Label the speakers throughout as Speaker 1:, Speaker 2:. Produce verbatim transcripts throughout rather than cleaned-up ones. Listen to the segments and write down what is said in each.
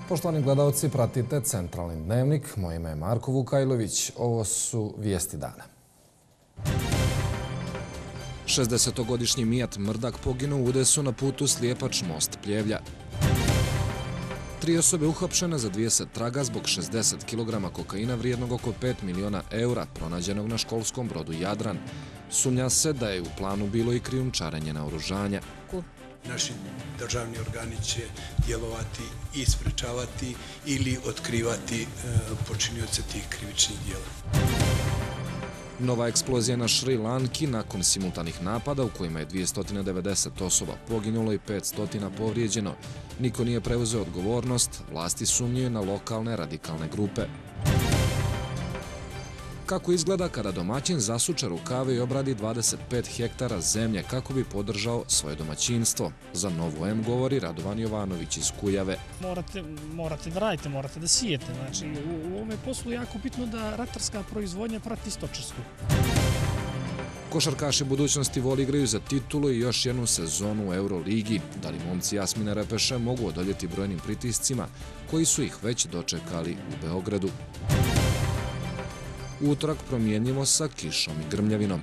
Speaker 1: Poštovani gledalci, pratite Centralni dnevnik. Moje ime je Marko Vukajlović. Ovo su vijesti dana. šezdesetogodišnji Mijat Mrdak poginuo u udesu na putu Slijepač-Most Pljevlja. Tri osobe uhapšene za dvadeset traga zbog šezdeset kilograma kokaina vrijednog oko pet miliona eura pronađenog na školskom brodu Jadran. Sumnja se da je u planu bilo i krijumčarenje naoružanja.
Speaker 2: Naši državni organi će djelovati i sprečavati ili otkrivati počinioce tih krivičnih djela.
Speaker 1: Nova eksplozija na Šri Lanki nakon simultanih napada u kojima je dvjesto devedeset osoba poginulo i petsto povrijeđeno. Niko nije preuzeo odgovornost, vlasti sumnjuju na lokalne radikalne grupe. Kako izgleda kada domaćin zasuče rukave i obradi dvadeset pet hektara zemlje kako bi podržao svoje domaćinstvo? Za Novu M govori Radovan Jovanović iz Kujave.
Speaker 3: Morate, morate da radite, morate da sijete. Znači, u, u ovome poslu je jako bitno da ratarska proizvodnja prati stočarsku.
Speaker 1: Košarkaši budućnosti Vol igraju za titulu i još jednu sezonu u Euroligi. Da li momci Jasmine Repeše mogu odoljeti brojnim pritiscima koji su ih već dočekali u Beogradu? Utorak promjenjivo sa kišom i grmljavinom.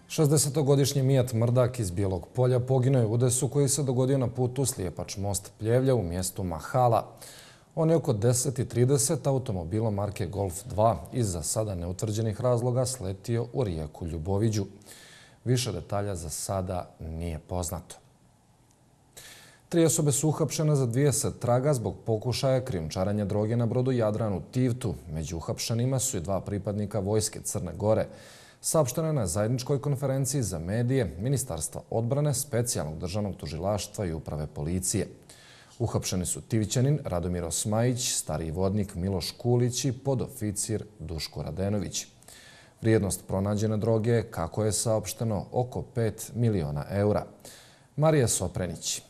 Speaker 1: šezdesetogodišnji Mijat Mrdak iz Bijelog Polja poginuo je u udesu koji se dogodio na putu Slijepač-Most Pljevlja u mjestu Mahala. On je oko deset i trideset automobilom marke Golf dva iz za sada neutvrđenih razloga sletio u rijeku Ljuboviđu. Više detalja za sada nije poznato. Tri osobe su uhapšene za dvadeset traga zbog pokušaja krijumčarenja droge na brodu Jadran u Tivtu. Među uhapšenima su i dva pripadnika Vojske Crne Gore. Saopšteno je na zajedničkoj konferenciji za medije Ministarstva odbrane, Specijalnog državnog tužilaštva i Uprave policije. Uhapšeni su Tivićanin Radomir Osmajić, stariji vodnik Miloš Kulić i podoficir Duško Radenović. Vrijednost pronađene droge je, kako je saopšteno, oko pet miliona eura. Marija Soprenić.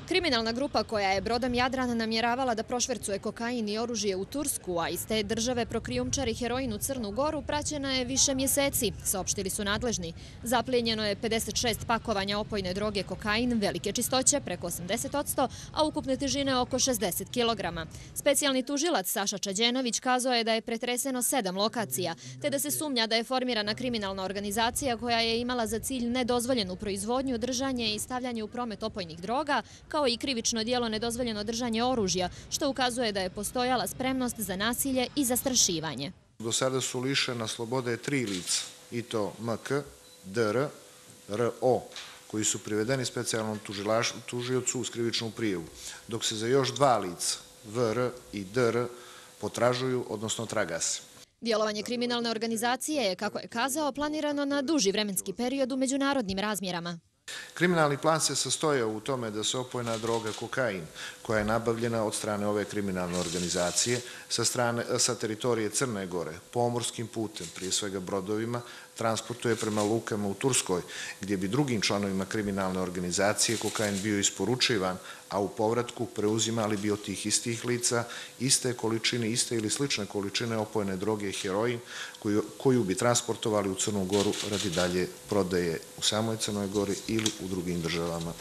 Speaker 4: Kriminalna grupa koja je brodom Jadran namjeravala da prošvercuje kokain i oružje u Tursku, a iz te države prokrijumčari heroin u Crnu Goru, praćena je više mjeseci, saopštili su nadležni. Zaplijenjeno je pedeset šest pakovanja opojne droge kokain, velike čistoće, preko osamdeset posto, a ukupne težine oko šezdeset kilograma. Specijalni tužilac Saša Čađenović kazao je da je pretreseno sedam lokacija, te da se sumnja da je formirana kriminalna organizacija koja je imala za cilj nedozvoljenu proizvodnju, držanje i stavljanje u promet opojnih droga, kao i krivično djelo nedozvoljeno držanje oružja, što ukazuje da je postojala spremnost za nasilje i zastrašivanje.
Speaker 5: Do sada su lišena slobode tri lica, i to M K, D R, R O, koji su privedeni specijalnom tužiocu uz krivičnu prijavu, dok se za još dva lica, V R i D R, potražuju, odnosno traga se.
Speaker 4: Djelovanje kriminalne organizacije je, kako je kazao, planirano na duži vremenski period u međunarodnim razmjerama.
Speaker 5: Kriminalni plan se sastojao u tome da se opojna droga kokain, koja je nabavljena od strane ove kriminalne organizacije sa, strane, sa teritorije Crne Gore, pomorskim putem, prije svega brodovima, transportuje prema lukama u Turskoj, gdje bi drugim članovima kriminalne organizacije kokain bio isporučivan, a u povratku preuzimali bi od tih istih lica iste količine, iste ili slične količine opojne droge heroin, koju, koju bi transportovali u Crnu Goru radi dalje prodaje u samoj Crnoj Gori ili u drugim državama.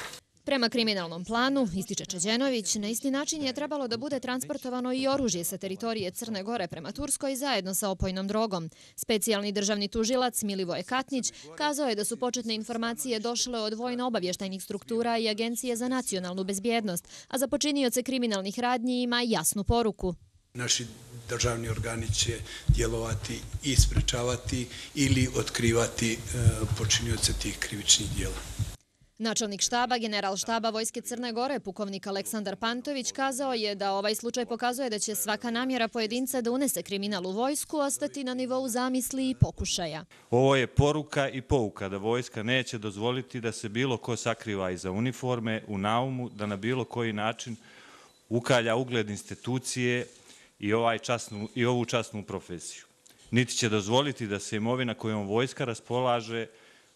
Speaker 4: Prema kriminalnom planu, ističe Čađenović, na isti način je trebalo da bude transportovano i oružje sa teritorije Crne Gore prema Turskoj zajedno sa opojnom drogom. Specijalni državni tužilac Milivoje Katnić kazao je da su početne informacije došle od vojno-obavještajnih struktura i Agencije za nacionalnu bezbjednost, a za počinioce kriminalnih radnji ima jasnu poruku.
Speaker 2: Naši državni organi će djelovati i sprečavati ili otkrivati počinioce tih krivičnih djela.
Speaker 4: Načelnik štaba, general štaba Vojske Crne Gore, pukovnik Aleksandar Pantović, kazao je da ovaj slučaj pokazuje da će svaka namjera pojedinca da unese kriminal u vojsku ostati na nivou zamisli i pokušaja.
Speaker 6: Ovo je poruka i pouka da vojska neće dozvoliti da se bilo ko sakriva iza uniforme u naumu, da na bilo koji način ukalja ugled institucije i, ovaj časnu, i ovu časnu profesiju. Niti će dozvoliti da se imovina kojom vojska raspolaže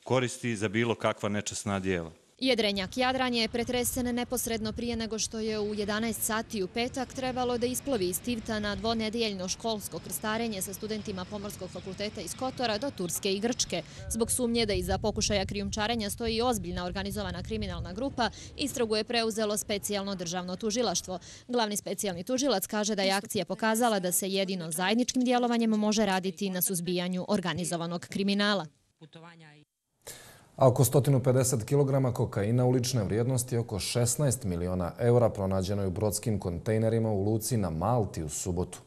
Speaker 6: koristi za bilo kakva nečasna djela.
Speaker 4: Jedrenjak Jadran je pretresen neposredno prije nego što je u jedanaest sati u petak trebalo da isplovi iz Tivta na dvonedijeljno školsko krstarenje sa studentima Pomorskog fakulteta iz Kotora do Turske i Grčke. Zbog sumnje da iza pokušaja krijumčarenja stoji ozbiljna organizovana kriminalna grupa, istragu je preuzelo specijalno državno tužilaštvo. Glavni specijalni tužilac kaže da je akcija pokazala da se jedino zajedničkim djelovanjem može raditi na suzbijanju organizovanog kriminala.
Speaker 1: A oko sto pedeset kilograma kokaina ulične vrijednosti oko šesnaest miliona eura pronađeno je u brodskim kontejnerima u luci na Malti u subotu.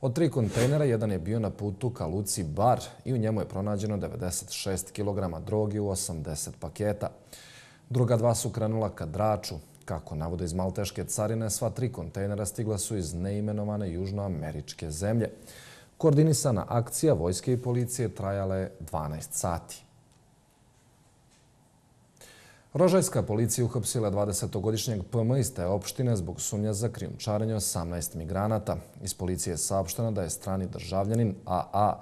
Speaker 1: Od tri kontejnera jedan je bio na putu ka luci Bar i u njemu je pronađeno devedeset šest kilograma droge u osamdeset paketa. Druga dva su krenula ka Draču. Kako navode iz malteške carine, sva tri kontejnera stigla su iz neimenovane južnoameričke zemlje. Koordinisana akcija vojske i policije trajala je dvanaest sati. Rožajska policija uhapsila dvadesetogodišnjeg P M iz te opštine zbog sumnja za krijumčarenje osamnaest migranata. Iz policije je saopšteno da je strani državljanin A A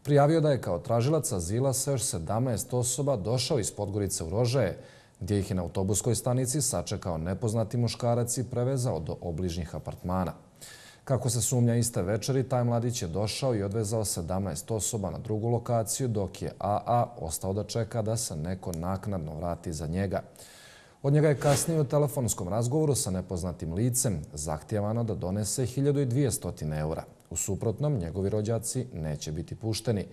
Speaker 1: prijavio da je kao tražilac azila sa još sedamnaest osoba došao iz Podgorice u Rožaje, gdje ih je na autobuskoj stanici sačekao nepoznati muškarac i prevezao do obližnjih apartmana. Kako se sumnja iste večeri, taj mladić je došao i odvezao sedamnaest osoba na drugu lokaciju, dok je A A ostao da čeka da se neko naknadno vrati za njega. Od njega je kasnije u telefonskom razgovoru sa nepoznatim licem zahtijevano da donese hiljadu dvjesto eura. U suprotnom, njegovi rođaci neće biti pušteni.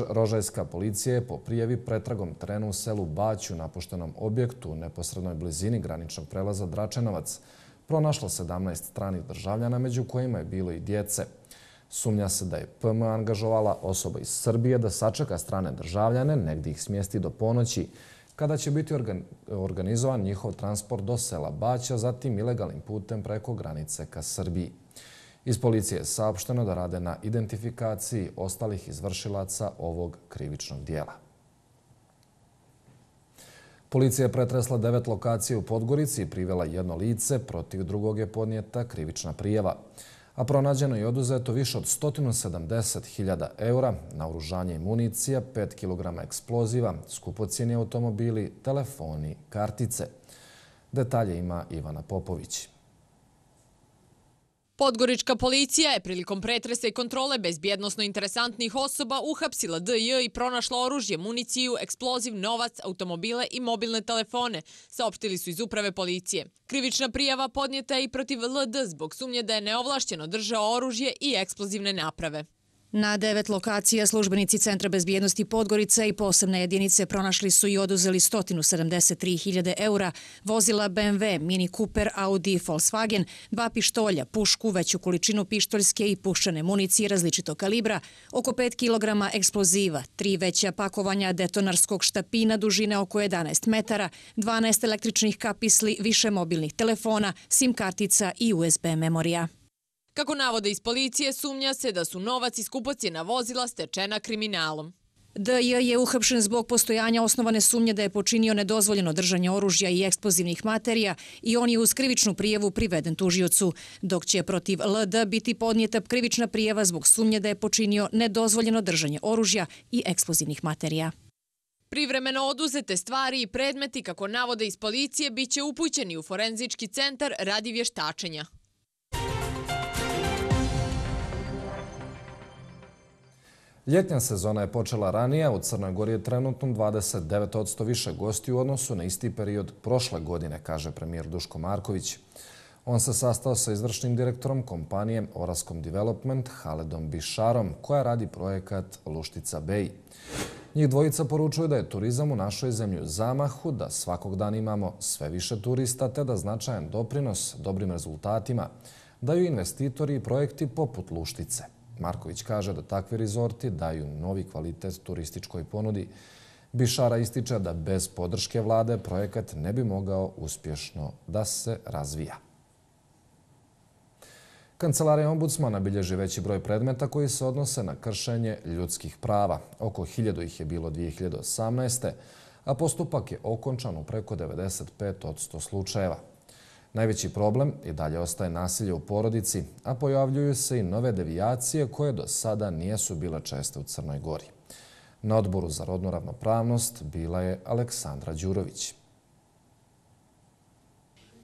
Speaker 1: Rožajska policija je po prijavi pretragom terena u selu Bać u napuštenom objektu u neposrednoj blizini graničnog prelaza Dračenovac pronašla sedamnaest stranih državljana, među kojima je bilo i djece. Sumnja se da je P M angažovala osoba iz Srbije da sačeka strane državljane, negdje ih smjesti do ponoći, kada će biti organizovan njihov transport do sela Baća, zatim ilegalnim putem preko granice ka Srbiji. Iz policije je saopšteno da rade na identifikaciji ostalih izvršilaca ovog krivičnog dijela. Policija je pretresla devet lokacija u Podgorici i privela jedno lice, protiv drugog je podnijeta krivična prijava. A pronađeno je oduzeto više od sto sedamdeset hiljada eura, naoružanje i municija, pet kilograma eksploziva, skupocijeni automobili, telefoni, kartice. Detalje ima Ivana Popović.
Speaker 7: Podgorička policija je prilikom pretresa i kontrole bezbjednosno interesantnih osoba uhapsila D J i pronašla oružje, municiju, eksploziv, novac, automobile i mobilne telefone, saopštili su iz uprave policije. Krivična prijava podnijeta je i protiv L D zbog sumnje da je neovlašćeno držao oružje i eksplozivne naprave.
Speaker 8: Na devet lokacija službenici Centra bezbjednosti Podgorica i posebne jedinice pronašli su i oduzeli sto sedamdeset tri hiljade eura, vozila B M W, Mini Cooper, Audi i Volkswagen, dva pištolja, pušku, veću količinu pištoljske i puščane municije različitog kalibra, oko pet kilograma eksploziva, tri veća pakovanja detonarskog štapina dužine oko jedanaest metara, dvanaest električnih kapisli, više mobilnih telefona, SIM kartica i U S B memorija.
Speaker 7: Kako navode iz policije, sumnja se da su novac i skupocjena vozila stečena kriminalom.
Speaker 8: D J je uhapšen zbog postojanja osnovane sumnje da je počinio nedozvoljeno držanje oružja i eksplozivnih materija i on je uz krivičnu prijavu priveden tužiocu, dok će protiv L D biti podnijeta krivična prijava zbog sumnje da je počinio nedozvoljeno držanje oružja i eksplozivnih materija.
Speaker 7: Privremeno oduzete stvari i predmeti, kako navode iz policije, bit će upućeni u forenzički centar radi vještačenja.
Speaker 1: Ljetnja sezona je počela ranije, u Crnoj Gori je trenutno dvadeset devet posto više gosti u odnosu na isti period prošle godine, kaže premijer Duško Marković. On se sastao sa izvršnim direktorom kompanije Orascom Development Haledom Bišarom, koja radi projekat Luštica Bay. Njih dvojica poručuju da je turizam u našoj zemlji u zamahu, da svakog dana imamo sve više turista, te da značajan doprinos dobrim rezultatima daju investitori i projekti poput Luštice. Marković kaže da takvi rezorti daju novi kvalitet turističkoj ponudi. Bišara ističe da bez podrške vlade projekat ne bi mogao uspješno da se razvija. Kancelarija ombudsmana bilježi veći broj predmeta koji se odnose na kršenje ljudskih prava. Oko hiljadu ih je bilo dvije hiljade osamnaeste. a postupak je okončan u preko devedeset pet posto slučajeva. Najveći problem i dalje ostaje nasilje u porodici, a pojavljuju se i nove devijacije koje do sada nijesu bile česte u Crnoj Gori. Na odboru za rodnu ravnopravnost bila je Aleksandra Đurović.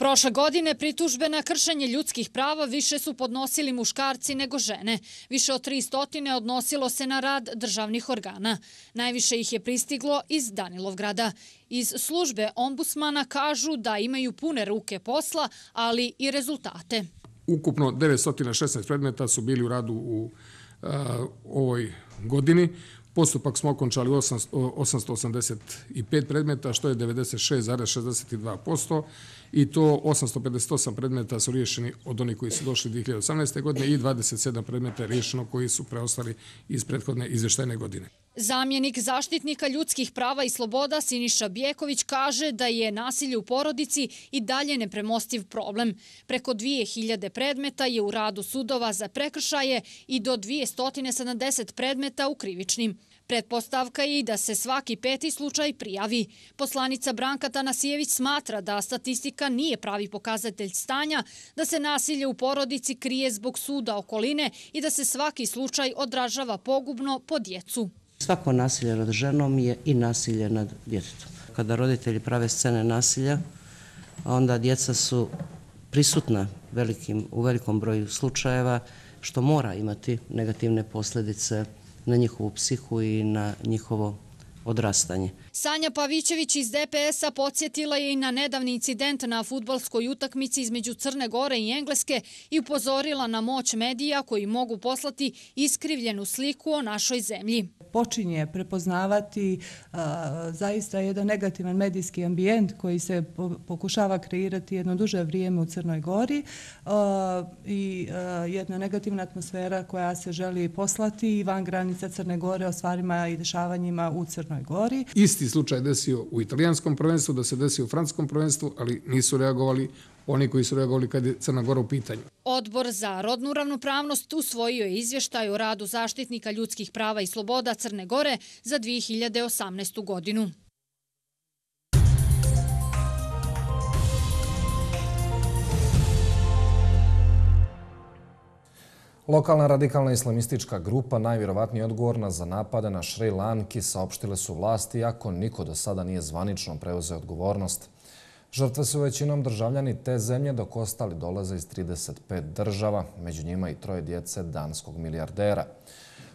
Speaker 9: Prošle godine pritužbe na kršenje ljudskih prava više su podnosili muškarci nego žene. Više od tri stotine odnosilo se na rad državnih organa. Najviše ih je pristiglo iz Danilovgrada. Iz službe ombudsmana kažu da imaju pune ruke posla, ali i rezultate.
Speaker 10: Ukupno devetsto šesnaest predmeta su bili u radu u uh, ovoj godini. Postupak smo okončali osamsto osamdeset pet predmeta, što je devedeset šest zarez šezdeset dva posto i to osamsto pedeset osam predmeta su riješeni od onih koji su došli dvije hiljade osamnaeste. godine i dvadeset sedam predmeta je riješeno koji su preostali iz prethodne izvještajne godine.
Speaker 9: Zamjenik zaštitnika ljudskih prava i sloboda Siniša Bjeković kaže da je nasilje u porodici i dalje nepremostiv problem. Preko dvije hiljade predmeta je u radu sudova za prekršaje i do dvjesto sedamdeset predmeta u krivičnim. Pretpostavka je i da se svaki peti slučaj prijavi. Poslanica Branka Tanasijević smatra da statistika nije pravi pokazatelj stanja, da se nasilje u porodici krije zbog suda okoline i da se svaki slučaj odražava pogubno po djecu.
Speaker 11: Svako nasilje nad ženom je i nasilje nad djetetom. Kada roditelji prave scene nasilja, onda djeca su prisutna velikim, u velikom broju slučajeva, što mora imati negativne posljedice na njihovu psihu i na njihovo odrastanje.
Speaker 9: Sanja Pavićević iz D P S-a podsjetila je i na nedavni incident na fudbalskoj utakmici između Crne Gore i Engleske i upozorila na moć medija koji mogu poslati iskrivljenu sliku o našoj zemlji.
Speaker 12: Počinje prepoznavati uh, zaista jedan negativan medijski ambijent koji se po, pokušava kreirati jedno duže vrijeme u Crnoj Gori uh, i uh, jedna negativna atmosfera koja se želi poslati i van granica Crne Gore o stvarima i dešavanjima u Crnoj Gori.
Speaker 10: Isti slučaj desio u italijanskom prvenstvu, da se desio u francuskom prvenstvu, ali nisu reagovali oni koji su reagovali kad je Crna Gora u pitanju.
Speaker 9: Odbor za rodnu ravnopravnost usvojio je izvještaj o radu zaštitnika ljudskih prava i sloboda Crne Gore za dvije hiljade osamnaestu. godinu.
Speaker 1: Lokalna radikalna islamistička grupa, najvjerovatnije odgovorna za napade na Šri Lanki, saopštile su vlasti, iako niko do sada nije zvanično preuzeo odgovornost. Žrtve su većinom državljani te zemlje, dok ostali dolaze iz trideset pet država, među njima i troje djece danskog milijardera.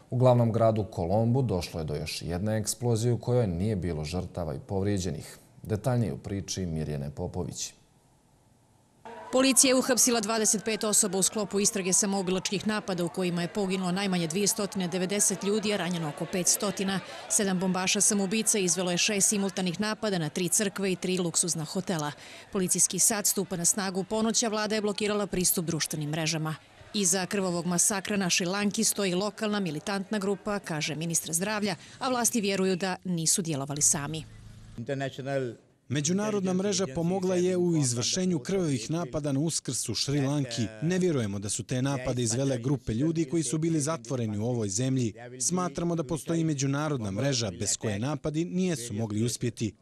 Speaker 1: U glavnom gradu Kolombu došlo je do još jedne eksplozije u kojoj nije bilo žrtava i povrijeđenih. Detaljnije u priči Mirjane Popović.
Speaker 8: Policija je uhapsila dvadeset pet osoba u sklopu istrage samoubilačkih napada u kojima je poginulo najmanje dvjesto devedeset ljudi, a ranjeno oko petsto. Sedam bombaša samoubica izvelo je šest simultanih napada na tri crkve i tri luksuzna hotela. Policijski sat stupa na snagu ponoća, vlada je blokirala pristup društvenim mrežama. Iza krvavog masakra na Šri Lanki stoji lokalna militantna grupa, kaže ministar zdravlja, a vlasti vjeruju da nisu djelovali sami.
Speaker 13: Međunarodna mreža pomogla je u izvršenju krvavih napada na Uskrs u Šri Lanki. Ne vjerujemo da su te napade izvele grupe ljudi koji su bili zatvoreni u ovoj zemlji. Smatramo da postoji međunarodna mreža bez koje napadi nijesu mogli uspjeti.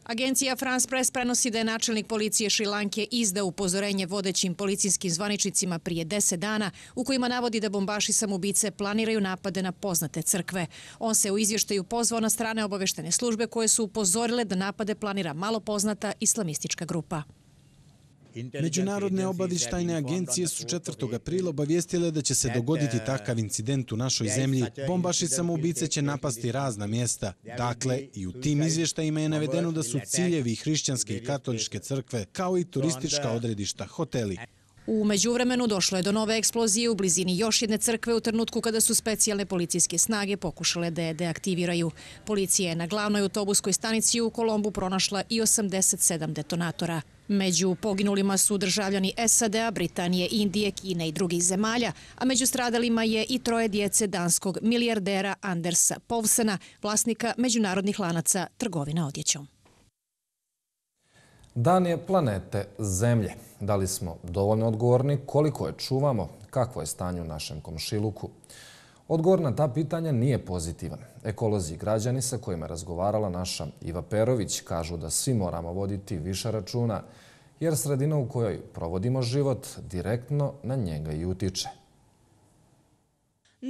Speaker 8: Agencija France Press prenosi da je načelnik policije Šri Lanke izdao upozorenje vodećim policijskim zvaničnicima prije deset dana u kojima navodi da bombaši samoubice planiraju napade na poznate crkve. On se u izvještaju pozvao na strane obaveštene službe koje su upozorile da napade planira malo poznata islamistička grupa.
Speaker 13: Međunarodne obavještajne agencije su četvrtog aprila obavijestile da će se dogoditi takav incident u našoj zemlji. Bombaši samoubice će napasti razna mjesta. Dakle, i u tim izvještajima je navedeno da su ciljevi hrišćanske i katoličke crkve, kao i turistička odredišta, hoteli.
Speaker 8: U međuvremenu došlo je do nove eksplozije u blizini još jedne crkve u trenutku kada su specijalne policijske snage pokušale da je deaktiviraju. Policija je na glavnoj autobuskoj stanici u Kolombu pronašla i osamdeset sedam detonatora. Među poginulima su državljani S A D-a, Britanije, Indije, Kine i drugih zemalja, a među stradalima je i troje djece danskog milijardera Andersa Povsena, vlasnika međunarodnih lanaca trgovina odjećom.
Speaker 1: Dan je planete Zemlje. Da li smo dovoljno odgovorni, koliko je čuvamo, kakvo je stanje u našem komšiluku? Odgovor na ta pitanja nije pozitivan. Ekolozi i građani sa kojima je razgovarala naša Iva Perović kažu da svi moramo voditi više računa, jer sredina u kojoj provodimo život direktno na njega i utiče.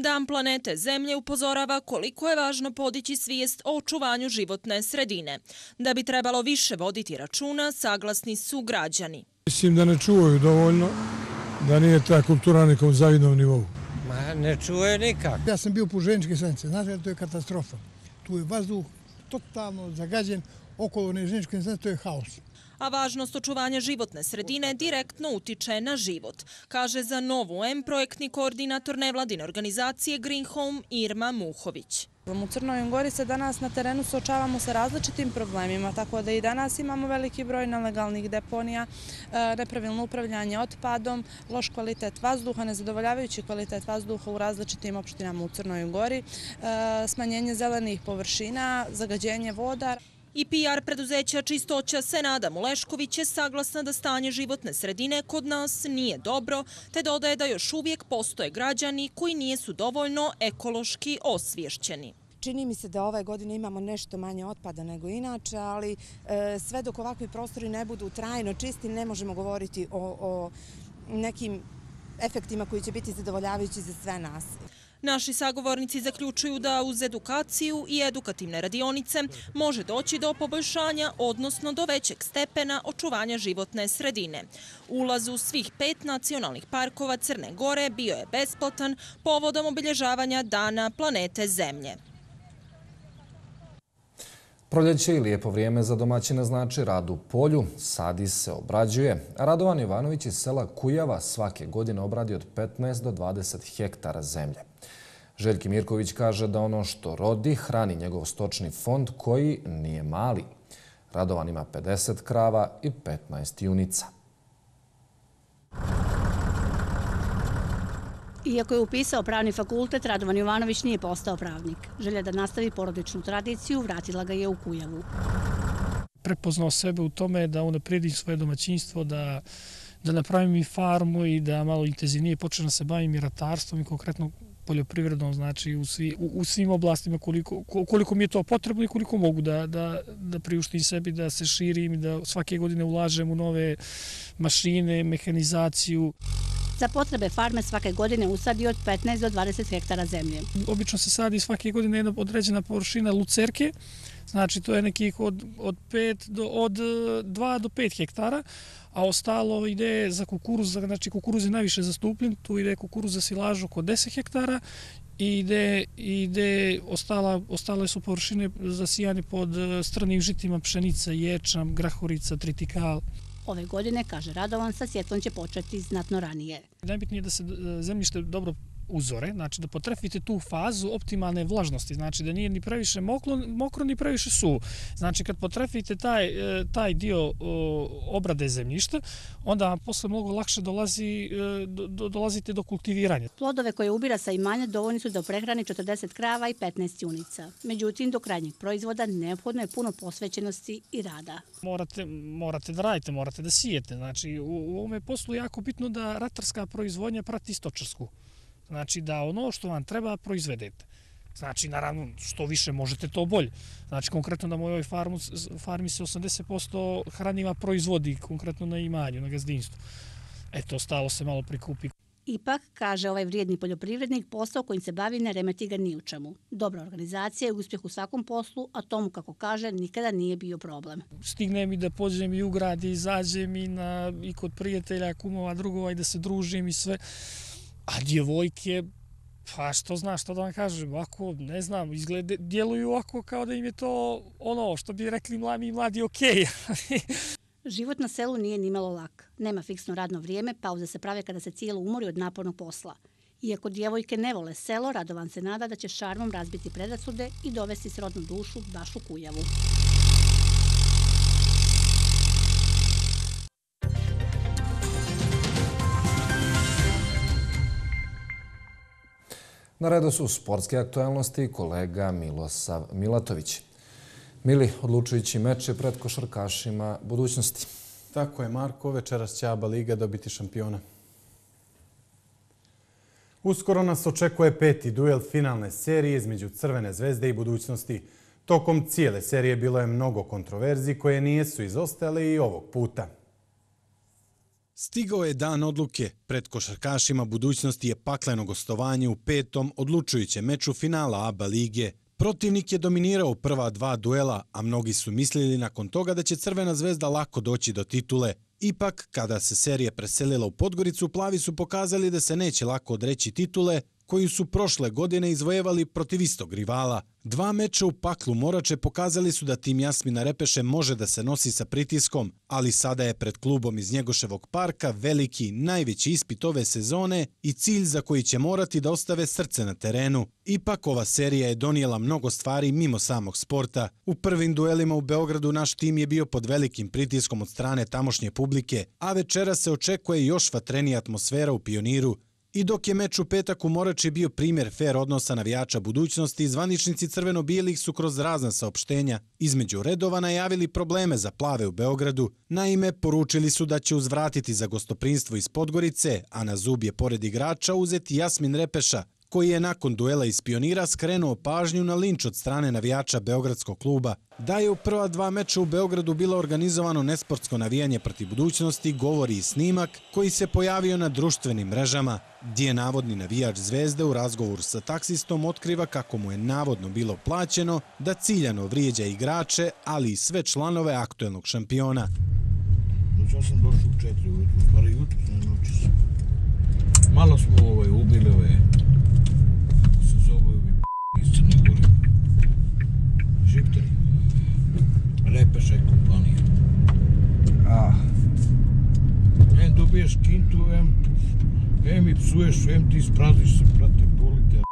Speaker 14: Dan planete Zemlje upozorava koliko je važno podići svijest o očuvanju životne sredine. Da bi trebalo više voditi računa, saglasni su građani.
Speaker 15: Mislim da ne čuvaju dovoljno, da nije ta kultura na nekom zavidnom nivou.
Speaker 16: Ma ne čuje nikak.
Speaker 17: Ja sam bio u Željezničkoj stanici, znate, to je katastrofa. Tu je vazduh totalno zagađen, okolo Željezničke stanice to je haos.
Speaker 14: A važnost očuvanja životne sredine direktno utiče na život, kaže za Novu M projektni koordinator nevladine organizacije Green Home Irma Muhović.
Speaker 18: U Crnoj Gori se danas na terenu suočavamo sa različitim problemima, tako da i danas imamo veliki broj nelegalnih deponija, nepravilno upravljanje otpadom, loš kvalitet vazduha, nezadovoljavajući kvalitet vazduha u različitim opštinama u Crnoj Gori, smanjenje zelenih površina, zagađenje voda.
Speaker 14: I P R preduzeća Čistoća Senada Mulešković je saglasna da stanje životne sredine kod nas nije dobro, te dodaje da još uvijek postoje građani koji nisu dovoljno ekološki osviješćeni.
Speaker 19: Čini mi se da ove godine imamo nešto manje otpada nego inače, ali sve dok ovakvi prostori ne budu trajno čisti, ne možemo govoriti o, o nekim efektima koji će biti zadovoljavajući za sve nas.
Speaker 14: Naši sagovornici zaključuju da uz edukaciju i edukativne radionice može doći do poboljšanja, odnosno do većeg stepena očuvanja životne sredine. Ulaz u svih pet nacionalnih parkova Crne Gore bio je besplatan povodom obilježavanja Dana planete Zemlje.
Speaker 1: Proljeće i lijepo vrijeme za domaćine znači rad u polju, sadi se, obrađuje. Radovan Ivanović iz sela Kujava svake godine obradi od petnaest do dvadeset hektara zemlje. Željki Mirković kaže da ono što rodi hrani njegov stočni fond koji nije mali. Radovan ima pedeset krava i petnaest junica.
Speaker 20: Iako je upisao pravni fakultet, Radovan Jovanović nije postao pravnik. Želja da nastavi porodičnu tradiciju vratila ga je u Kujavu.
Speaker 3: Prepoznao sebe u tome da unaprijedim svoje domaćinstvo, da, da napravim i farmu i da malo intenzivnije počnem da se bavim i ratarstvom i konkretno poljoprivredom, znači u, svi, u, u svim oblastima koliko, koliko mi je to potrebno i koliko mogu da, da, da priuštim sebi, da se širim i da svake godine ulažem u nove mašine, mehanizaciju.
Speaker 20: Za potrebe farme svake godine usadi od petnaest do dvadeset hektara zemlje.
Speaker 3: Obično se sadi svake godine jedna određena površina lucerke, znači to je nekih od, od, pet do, od dva do pet hektara, a ostalo ide za kukuruz, znači kukuruz je najviše zastupljen, tu ide kukuruz za silažu oko deset hektara i ide, ide ostala, ostale su površine zasijane pod strnim žitima, pšenica, ječam, grahorica, tritikal.
Speaker 20: Ove godine, kaže Radovan, sa sjetlom će početi znatno ranije.
Speaker 3: Najbitnije je da se zemljište dobro uzore, znači da potrefite tu fazu optimalne vlažnosti, znači da nije ni previše mokro, mokro ni previše suvo. Znači kad potrefite taj, taj dio obrade zemljišta, onda vam posle mnogo lakše dolazi, do, dolazite do kultiviranja.
Speaker 20: Plodove koje ubira sa imanja dovoljni su da prehrani četrdeset krava i petnaest junica. Međutim, do krajnjeg proizvoda neophodno je puno posvećenosti i rada.
Speaker 3: Morate, morate da radite, morate da sijete. Znači u, u ovome poslu je jako bitno da ratarska proizvodnja prati stočarsku. Znači da ono što vam treba proizvedete. Znači, naravno, što više možete, to bolje. Znači, konkretno na mojoj farmu, farmi se osamdeset posto hranjiva proizvodi, konkretno na imanju, na gazdinstvu. Eto, ostalo se malo prikupi.
Speaker 20: Ipak, kaže ovaj vrijedni poljoprivrednik, posao kojim se bavi ne remeti ga ni u čemu. Dobra organizacija je uspjeh u svakom poslu, a tomu, kako kaže, nikada nije bio problem.
Speaker 3: Stignem i da pođem i u grad i izađem i, na, i kod prijatelja, kumova, drugova i da se družim i sve. A djevojke, pa što znaš, što da vam kažem, ovako, ne znam, izglede, djeluju ovako kao da im je to ono što bi rekli mladi, mladi okej.
Speaker 20: Život na selu nije nimalo lak. Nema fiksno radno vrijeme, pauze se prave kada se cijelo umori od napornog posla. Iako djevojke ne vole selo, Radovan se nada da će šarmom razbiti predrasude i dovesti srodnu dušu baš u Kujavu.
Speaker 1: Na redu su sportske aktualnosti kolega Milosav Milatović. Mili, odlučujući meče pred košarkašima budućnosti.
Speaker 13: Tako je, Marko. Večeras će A B A Liga dobiti šampiona. Uskoro nas očekuje peti duel finalne serije između Crvene zvezde i budućnosti. Tokom cijele serije bilo je mnogo kontroverzi koje nisu izostale i ovog puta. Stigao je dan odluke. Pred košarkašima budućnosti je pakleno gostovanje u petom odlučujućem meču finala A B A lige. Protivnik je dominirao prva dva duela, a mnogi su mislili nakon toga da će Crvena zvezda lako doći do titule. Ipak, kada se serija preselila u Podgoricu, plavi su pokazali da se neće lako odreći titule, koju su prošle godine izvojevali protiv istog rivala. Dva meča u paklu Morače pokazali su da tim Jasmina Repeše može da se nosi sa pritiskom, ali sada je pred klubom iz Njegoševog parka veliki, najveći ispit ove sezone i cilj za koji će morati da ostave srce na terenu. Ipak ova serija je donijela mnogo stvari mimo samog sporta. U prvim duelima u Beogradu naš tim je bio pod velikim pritiskom od strane tamošnje publike, a večera se očekuje još vatrenija atmosfera u Pioniru. I dok je meč u petak u Morači bio primjer fer odnosa navijača budućnosti, zvaničnici crveno-bijelih su kroz razna saopštenja između redova najavili probleme za plave u Beogradu. Naime, poručili su da će uzvratiti za gostoprinstvo iz Podgorice, a na zub je pored igrača uzeti Jasmin Repeša, koji je nakon duela iz Pionira skrenuo pažnju na linč od strane navijača Beogradskog kluba. Da je u prva dva meča u Beogradu bilo organizovano nesportsko navijanje protiv budućnosti, govori i snimak koji se pojavio na društvenim mrežama, gdje je navodni navijač Zvezde u razgovoru sa taksistom otkriva kako mu je navodno bilo plaćeno da ciljano vrijeđa igrače, ali i sve članove aktuelnog šampiona.
Speaker 21: Ja sam došao u četiri ujutru, stvari jutru, ne noći se. Malo smo ovaj, ubili ove, kako se zove ovi p***i iz Crne Gore, Žipteri, Repeša i kompanija. Ah. Em dobiješ kintu, em, em i psuješ, em ti ispraziš se, prate, bolite.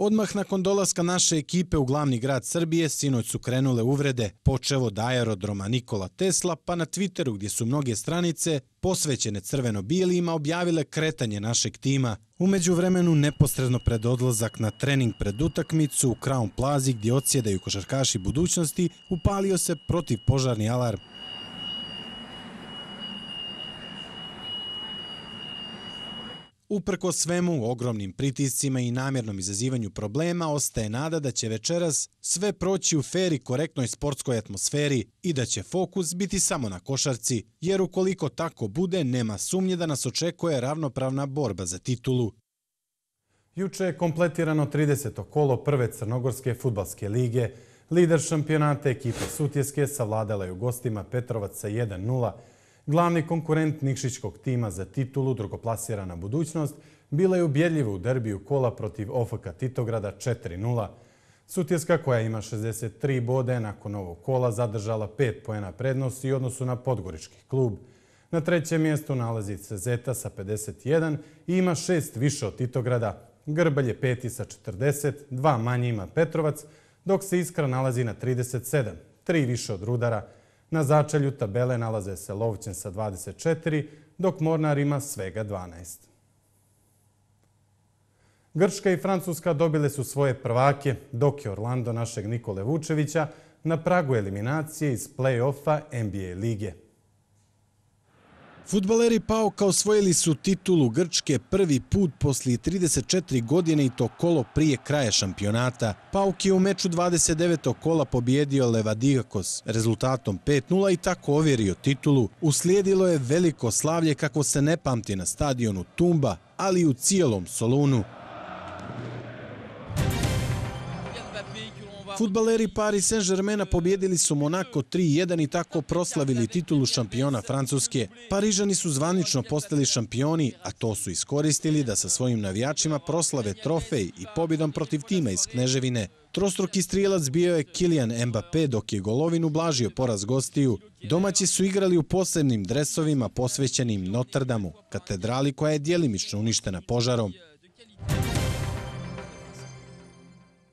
Speaker 13: Odmah nakon dolaska naše ekipe u glavni grad Srbije, sinoć su krenule uvrede, počev od aerodroma Nikola Tesla, pa na Twitteru gdje su mnoge stranice posvećene crveno-bijelima objavile kretanje našeg tima. U međuvremenu, neposredno pred odlazak na trening pred utakmicu u Crown Plazi gdje odsjedaju košarkaši budućnosti, upalio se protivpožarni alarm. Uprkos svemu, ogromnim pritiscima i namjernom izazivanju problema, ostaje nada da će večeras sve proći u fer i korektnoj sportskoj atmosferi i da će fokus biti samo na košarci, jer ukoliko tako bude, nema sumnje da nas očekuje ravnopravna borba za titulu. Juče je kompletirano trideseto kolo prve Crnogorske fudbalske lige. Lider šampionata ekipa Sutjeske savladala je u gostima Petrovac sa jedan nula. Glavni konkurent Nikšićkog tima za titulu, drugoplasirana Budućnost, bila je ubjedljiva u derbiju kola protiv O F K Titograda četiri nula. Sutjeska, koja ima šezdeset tri bode, nakon ovog kola zadržala pet poena prednosti u odnosu na Podgorički klub. Na trećem mjestu nalazi se Zeta sa pedeset jedan i ima šest više od Titograda. Grbalj je peti sa četrdeset, dva manje ima Petrovac, dok se Iskra nalazi na trideset sedam, tri više od Rudara. Na začelju tabele nalaze se Lovćen sa dvadeset četiri, dok Mornar ima svega dvanaest. Grčka i Francuska dobile su svoje prvake, dok je Orlando našeg Nikole Vučevića na pragu eliminacije iz play-offa N B A lige. Fudbaleri Pauka osvojili su titulu Grčke prvi put poslije trideset četiri godine i to kolo prije kraja šampionata. Pauk je u meču dvadeset devetog kola pobjedio Levadiakos rezultatom pet nula i tako ovjerio titulu. Uslijedilo je veliko slavlje kako se ne pamti na stadionu Tumba, ali i u cijelom Solunu. Fudbaleri Paris Saint-Germaina pobjedili su Monako tri jedan i tako proslavili titulu šampiona Francuske. Parižani su zvanično postali šampioni, a to su iskoristili da sa svojim navijačima proslave trofej i pobjedom protiv tima iz Kneževine. Trostruki strijelac bio je Kylian Mbappé, dok je golovin ublažio poraz gostiju. Domaći su igrali u posebnim dresovima posvećenim Notre Damu, katedrali koja je djelimično uništena požarom.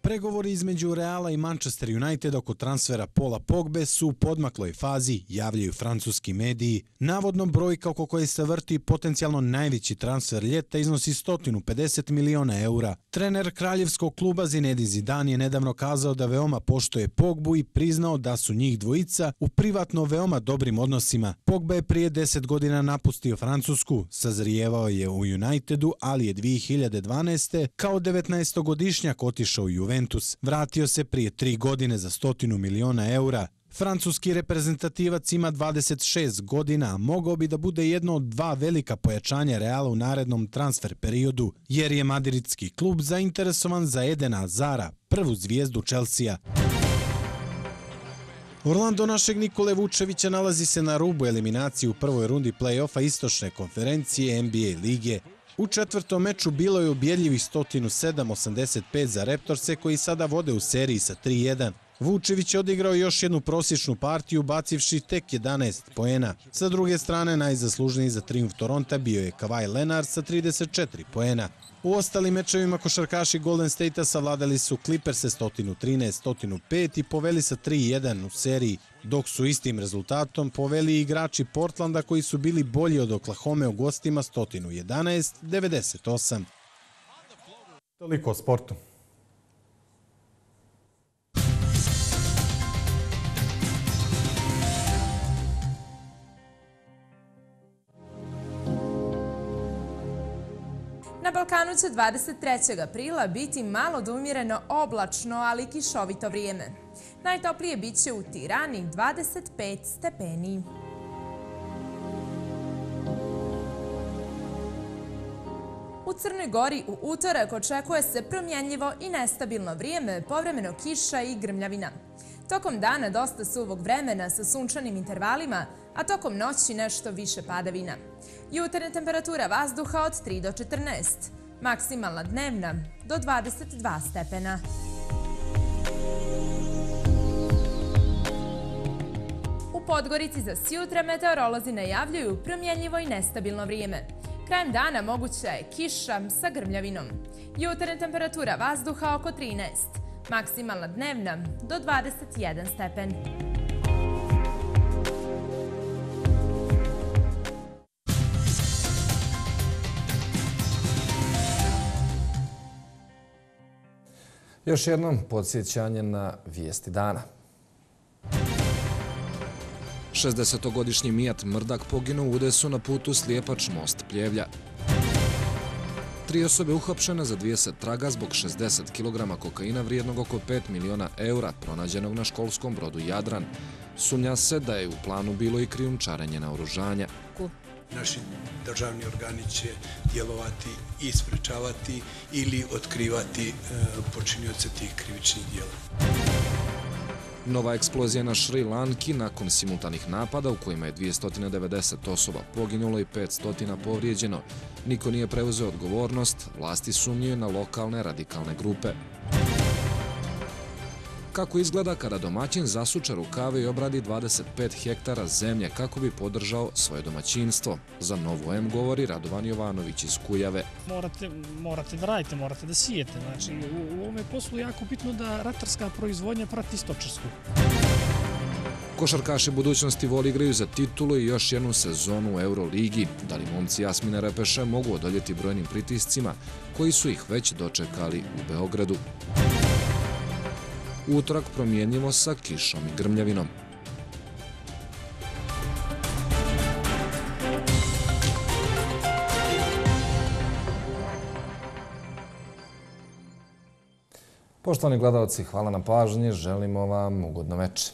Speaker 13: Pregovori između Reala i Manchester United oko transfera Paula Pogbe su u podmakloj fazi, javljaju francuski mediji. Navodno brojka oko koje se vrti potencijalno najveći transfer ljeta iznosi sto pedeset miliona eura. Trener kraljevskog kluba Zinedine Zidane je nedavno kazao da veoma poštuje Pogbu i priznao da su njih dvojica u privatno veoma dobrim odnosima. Pogba je prije deset godina napustio Francusku, sazrijevao je u Unitedu, ali je dvije hiljade dvanaeste. kao devetnaestogodišnjak otišao u Juventus. Vratio se prije tri godine za stotinu miliona eura. Francuski reprezentativac ima dvadeset šest godina, a mogao bi da bude jedno od dva velika pojačanja Reala u narednom transfer periodu, jer je madridski klub zainteresovan za Edena Hazara, prvu zvijezdu Chelsea. Orlando našeg Nikole Vučevića nalazi se na rubu eliminacije u prvoj rundi play-offa istočne konferencije N B A lige. U četvrtom meču bilo je ubjedljivih sto sedam osamdeset pet za Raptorse koji sada vode u seriji sa tri jedan. Vučević je odigrao još jednu prosječnu partiju bacivši tek jedanaest poena. Sa druge strane, najzaslužniji za trijumf Toronta bio je Kawhi Leonard sa trideset četiri poena. U ostalim mečevima košarkaši Golden State-a savladali su Clippers sto trinaest sto pet i poveli sa tri jedan u seriji, dok su istim rezultatom poveli igrači Portlanda koji su bili bolji od Oklahome u gostima sto jedanaest devedeset osam.
Speaker 1: Toliko o sportu.
Speaker 5: Na Balkanu će dvadeset trećeg aprila biti malo do umjereno oblačno, ali kišovito vrijeme. Najtoplije bit će u Tirani dvadeset pet stepeni. U Crnoj Gori u utorak očekuje se promjenljivo i nestabilno vrijeme, povremeno kiša i grmljavina. Tokom dana dosta suvog vremena sa sunčanim intervalima, a tokom noći nešto više padavina. Jutarnja temperatura vazduha od tri do četrnaest, maksimalna dnevna do dvadeset dva stepena. U Podgorici za sjutra meteorolozi najavljuju promjenljivo i nestabilno vrijeme. Krajem dana moguća je kiša sa grmljavinom. Jutarnja temperatura vazduha oko trinaest, maksimalna dnevna do dvadeset jedan stepen.
Speaker 1: Još jednom podsjećanje na vijesti dana. šezdesetogodišnji Mijat Mrdak poginuo u udesu na putu Slijepač-Most Pljevlja. Tri osobe uhapšene za dvadeset traga zbog šezdeset kilograma kokaina vrijednog oko pet miliona eura pronađenog na školskom brodu Jadran. Sumnja se da je u planu bilo i krijumčarenje naoružanja.
Speaker 2: Naši državni organi će djelovati i sprečavati ili otkrivati počinioce tih krivičnih djela.
Speaker 1: Nova eksplozija na Šri Lanki nakon simultanih napada u kojima je dvjesto devedeset osoba poginulo i petsto povrijeđeno. Niko nije preuzeo odgovornost, vlasti sumnjuju na lokalne radikalne grupe. Kako izgleda kada domaćin zasuče rukave i obradi dvadeset pet hektara zemlje kako bi podržao svoje domaćinstvo? Za Novu M govori Radovan Jovanović iz Kujave.
Speaker 3: Morate, morate da radite, morate da sijete. Znači, u, u ovome poslu je jako bitno da ratarska proizvodnja prati stočarsku.
Speaker 1: Košarkaši budućnosti Vol igraju za titulu i još jednu sezonu u Euroligi. Da li momci Jasmine Repeše mogu odoljeti brojnim pritiscima koji su ih već dočekali u Beogradu? Utorak promjenjivo sa kišom i grmljavinom. Poštovani gledalci, hvala na pažnji, želimo vam ugodno večer.